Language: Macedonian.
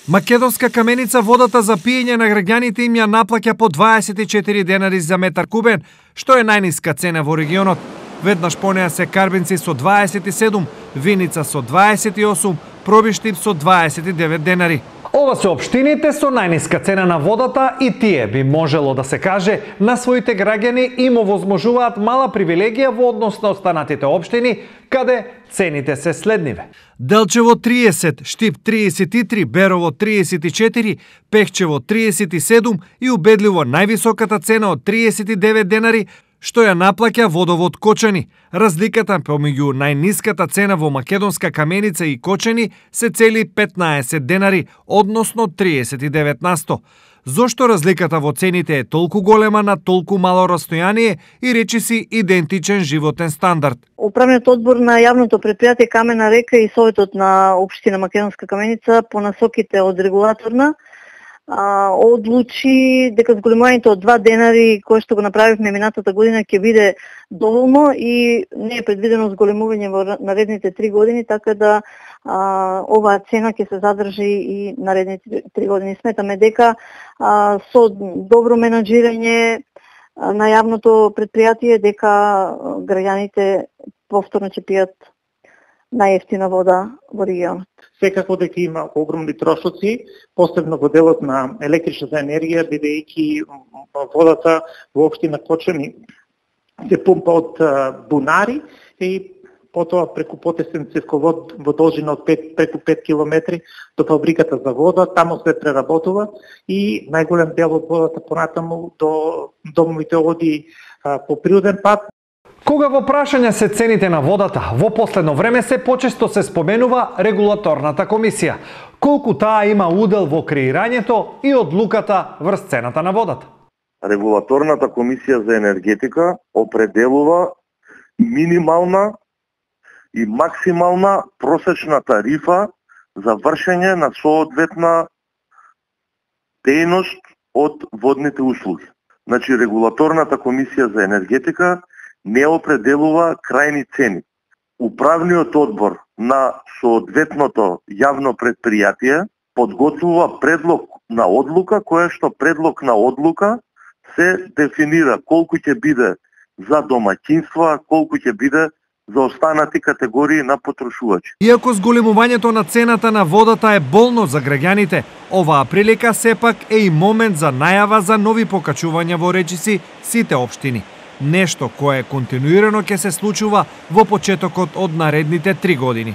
Македонска каменица водата за пиење на граѓаните им ја наплаќа по 24 денари за метар кубен, што е најниска цена во регионот. Веднаш по неа се Карбинци со 27, Виница со 28, Пробиштип со 29 денари. Ова се општините со најниска цена на водата и тие би можело да се каже на своите граѓани им овозможуваат мала привилегија во однос на останатите општини, каде цените се следниве. Делчево 30, Штип 33, Берово 34, Пехчево 37 и убедливо највисоката цена од 39 денари, што ја наплаќа водовод Кочани. Разликата помеѓу најниската цена во Македонска каменица и Кочани се цели 15 денари, односно 39%. Зошто разликата во цените е толку голема на толку мало растојание и речиси идентичен животен стандард? Управниот одбор на јавното предпријатие Камена река и Советот на општина Македонска каменица по насоките од регулаторна одлучи дека зголемувањето од 2 денари кое што го направивме минатата година ќе биде доволно и не е предвидено зголемување во наредните 3 години, така да оваа цена ќе се задржи и наредните 3 години. Сметаме дека со добро менаџирање на јавното предпријатие дека граѓаните повторно ќе пијат најевтина вода во регионот. Секако дека има огромни трошоци, посебно во делот на електричната енергија, бидејќи водата во општина Кочани се пумпа од бунари и потоа преку потесен цевковод во должина од преку 5 километри до фабриката за вода, таму се преработува и најголем дел од водата понатаму до домовите оди по природен пат. Кога во прашање се цените на водата, во последно време се почесто се споменува регулаторната комисија. Колку таа има удел во креирањето и одлуката врз цената на водата? Регулаторната комисија за енергетика определува минимална и максимална просечна тарифа за вршење на соодветна дејност од водните услуги. Значи, регулаторната комисија за енергетика не определува крајни цени. Управниот одбор на соодветното јавно предпријатие подготвува предлог на одлука, која што предлог на одлука се дефинира колку ќе биде за домаќинства, колку ќе биде за останати категории на потрошувачи. Иако зголемувањето на цената на водата е болно за граѓаните, оваа прилика сепак е и момент за најава за нови покачувања во речиси сите општини. Нешто кое континуирано ќе се случува во почетокот од наредните 3 години.